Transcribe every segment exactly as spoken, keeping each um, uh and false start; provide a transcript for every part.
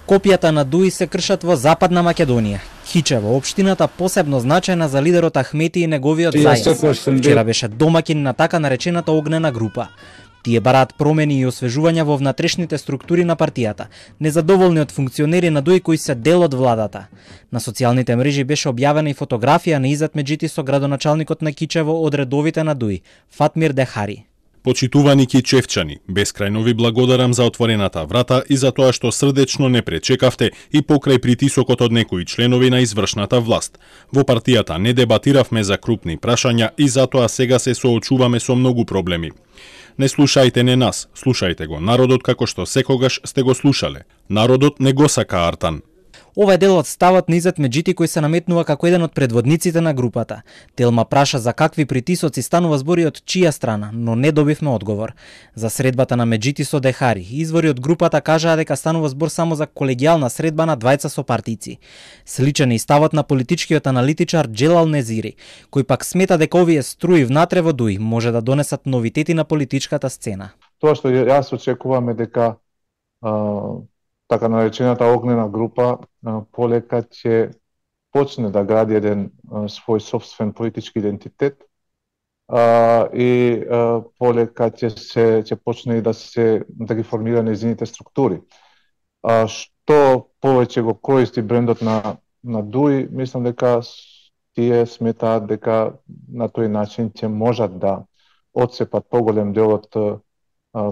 Копијата на Дуи се кршат во Западна Македонија. Кичево, општината посебно значајна за лидерот Ахмети и неговиот зајац. Вчера беше домаќин на така наречената огнена група. Тие бараат промени и освежувања во внатрешните структури на партијата, незадоволни од функционери на Дуи кои се дел од владата. На социјалните мрежи беше објавена и фотографија на Изет Меджити со градоначалникот на Кичево од редовите на Дуи, Фатмир Дехари. Почитувани кичевчани, бескрајно ви благодарам за отворената врата и за тоа што срдечно не пречекавте и покрај притисокот од некои членови на извршната власт. Во партијата не дебатиравме за крупни прашања и затоа сега се соочуваме со многу проблеми. Не слушајте не нас, слушајте го народот како што секогаш сте го слушале. Народот не го сака Артан. Ова е дел од ставот на Изет Меджити кој се наметнува како еден од предводниците на групата. Телма праша за какви притисоци станува збори од чија страна, но не добивме одговор. За средбата на Меджити со Дехари, извори од групата кажаа дека станува збор само за колегијална средба на двајца сопартијци. Сличен е и ставот на политичкиот аналитичар Джелал Незири, кој пак смета дека овие струи внатре во Дуи може да донесат новитети на политичката сцена. Тоа што јас очекувам е дека а... така наречената огнена група полека ќе почне да гради еден свој собствен политички идентитет а, и а, полека ќе се ќе почне и да се да ги формира нејзините структури. А, што повеќе го користи брендот на на Дуи, мислам дека тие сметаат дека на тој начин ќе можат да отцепат поголем дел од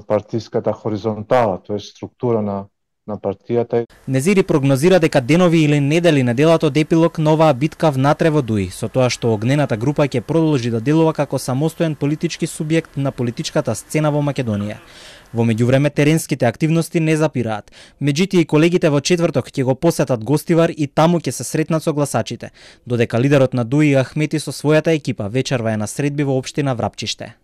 партиската хоризонтала, тоа е структура на на партијата. Незири прогнозира дека денови или недели на делот епилог на оваа битка внатре во Дуи, со тоа што огнената група ќе продолжи да делува како самостоен политички субјект на политичката сцена во Македонија. Во меѓувреме теренските активности не запираат. Меджити и колегите во четврток ќе го посетат Гостивар и таму ќе се сретнат со гласачите, додека лидерот на Дуи Ахмети со својата екипа вечерва е на средби во општина Врапчиште.